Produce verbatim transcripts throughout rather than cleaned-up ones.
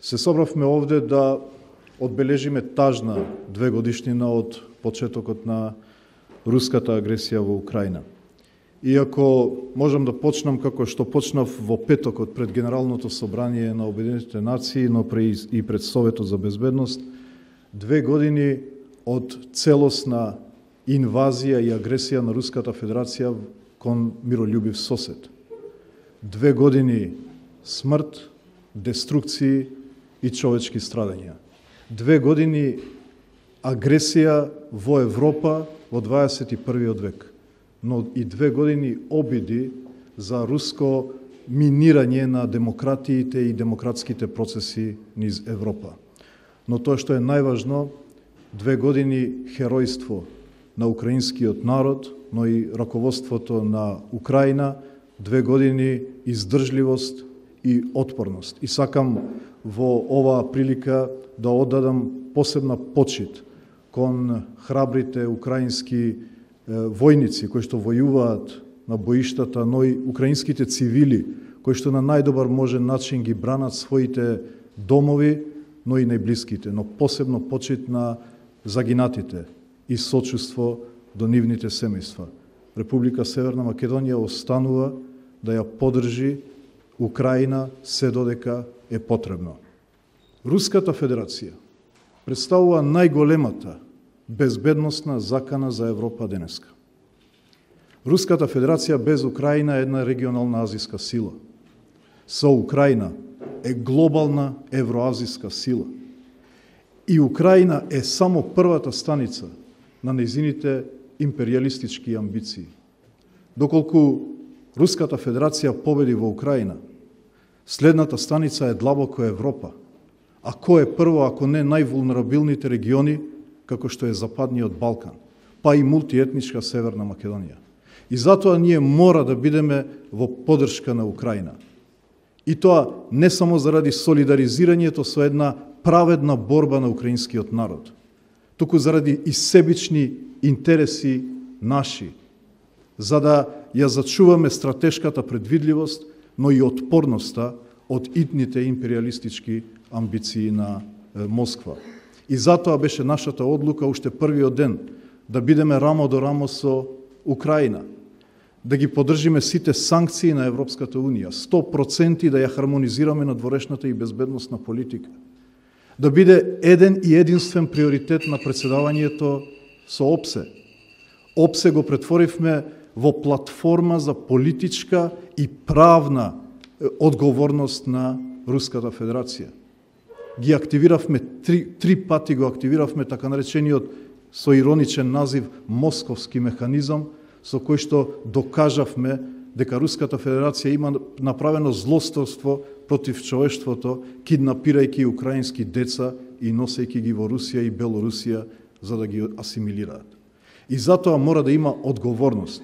Се собравме овде да одбележиме тажна две годишнина од почетокот на руската агресија во Украина. Иако можам да почнам како што почнав во петокот пред Генералното собрание на Обединетите нации, но и пред Советот за безбедност, две години од целосна инвазија и агресија на Руската Федерација кон миролюбив сосед. Две години смрт, деструкции и човечки страдања. Две години агресија во Европа во дваесет и првиот век, но и две години обиди за руско минирање на демократиите и демократските процеси низ Европа. Но тоа што е најважно, две години херојство на украинскиот народ, но и раководството на Украина, две години издржливост и отпорност. И сакам во оваа прилика да оддадам посебна почит кон храбрите украински војници кои што војуваат на боиштата, но и украинските цивили кои што на најдобар можен начин ги бранат своите домови, но и најблиските, но посебно почит на загинатите и сочувство до нивните семејства. Република Северна Македонија останува да ја поддржи Украина се додека е потребно. Руската Федерација представува најголемата безбедносна закана за Европа денеска. Руската Федерација без Украина е една регионална азиска сила. Со Украина е глобална евроазиска сила. И Украина е само првата станица на нејзините империалистички амбиции. Доколку Руската Федерација победи во Украина, следната станица е длабоко Европа. А кој е прво, ако не највулнерабилните региони, како што е Западниот Балкан, па и мултиетничка Северна Македонија. И затоа ние мора да бидеме во поддршка на Украина. И тоа не само заради солидаризирањето со една праведна борба на украинскиот народ, туку заради и себични интереси наши, за да ја зачуваме стратешката предвидливост, но и отпорноста од итните империалистички амбиции на Москва. И затоа беше нашата одлука уште првиот ден да бидеме рамо до рамо со Украина, да ги поддржиме сите санкции на Европската Унија, сто проценти да ја хармонизираме на дворешната и безбедносна политика, да биде еден и единствен приоритет на председавањето со ОПСЕ. ОПСЕ го претворивме во платформа за политичка и правна одговорност на Руската Федерација. Ги активиравме, три, три пати го активиравме така наречениот со ироничен назив московски механизам, со кој што докажавме дека Руската Федерација има направено злосторство против човештвото, киднапирајќи украински деца и носејќи ги во Русија и Белорусија за да ги асимилираат. И затоа мора да има одговорност.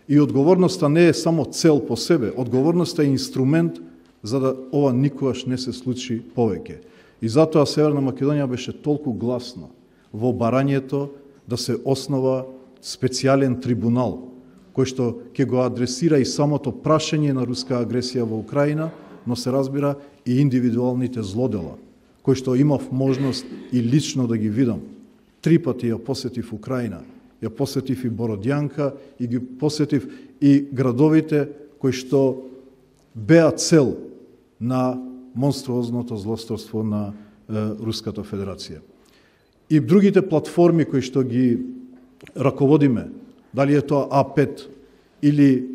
И одговорноста не е само цел по себе, одговорноста е инструмент за да ова никогаш не се случи повеќе. И затоа Северна Македонија беше толку гласна во барањето да се основа специјален трибунал, кој што ќе го адресира и самото прашање на руска агресија во Украина, но се разбира и индивидуалните злодела, кои што имав можност и лично да ги видам. Три пати ја посетив Украина, ја посетив и Бородјанка и ги посетив и градовите кои што беа цел на монструозното злосторство на е, Руската Федерација. И другите платформи кои што ги раководиме, дали е тоа А пет или е,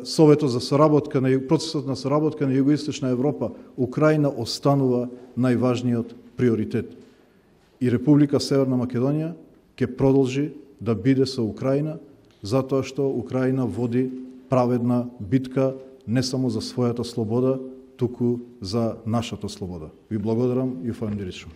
Советот за соработка на процесот на соработка на Југоисточна Европа, Украина останува најважниот приоритет. И Република Северна Македонија ќе продолжи да биде со Украина, затоа што Украина води праведна битка не само за својата слобода, туку за нашата слобода. Ви благодарам и фајм дирично.